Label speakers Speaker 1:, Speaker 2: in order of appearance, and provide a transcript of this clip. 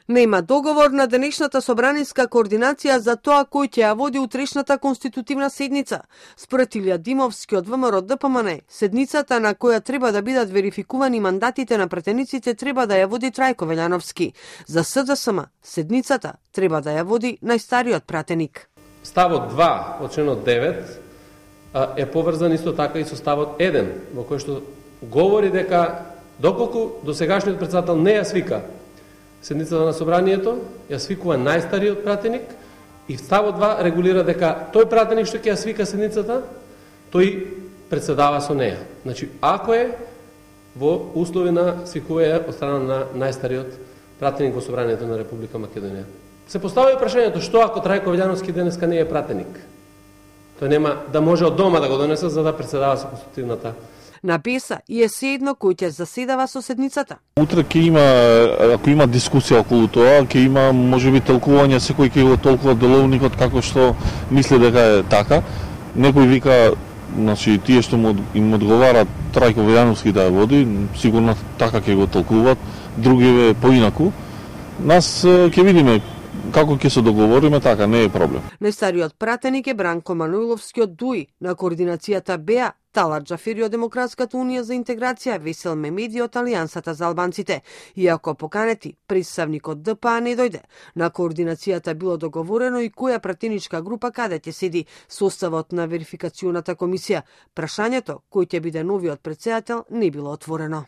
Speaker 1: Нема договор на денешната собраниска координација за тоа кој ќе ја води утрешната конститутивна седница. Според Илија Димовски од ВМРО ДПМН, седницата на која треба да бидат верификувани мандатите на пратениците треба да ја води Трајко Велјановски. За СДСМ, седницата треба да ја води најстариот пратеник.
Speaker 2: Ставот 2 од членот 9 е поврзан исто така и со ставот 1, во кој што говори дека доколку досегашниот претседател не ја свика седницата на собранието, ја свикува најстариот пратеник и ставот 2 регулира дека тој пратеник што ќе ја свика седницата, тој председава со неја. Значи, ако е во услови на свикување од страна на најстариот пратеник во собранието на Република Македонија. Се поставува прашањето што ако Трајко Велјановски денеска не е пратеник? Тој нема да може од дома да го донесе за да председава со конститутивната.
Speaker 1: На БЕСА и е седно кој ќе заседава со седницата.
Speaker 3: Утре ќе има, ако има дискусија околу тоа, ќе има можеби толкување, секој ќе го толкува деловникот како што мисли дека е така. Некој вика, значи тие што им одговара Трајко Велјановски да ја води, сигурно така ќе го толкуваат, други поинаку. Нас ќе видиме како ќе се договориме, така не е проблем.
Speaker 1: Најстариот пратеник е Бранко Мануиловски од ДУИ, на координацијата БЕА, Талат Джафери од Демократската унија за интеграција, Весел Мемеди од Алијансата за албанците. Иако поканети, представник од ДПА не дојде. На координацијата било договорено и која пратеничка група каде ќе седи, составот на верификацијоната комисија. Прашањето кој ќе биде новиот претседател не било отворено.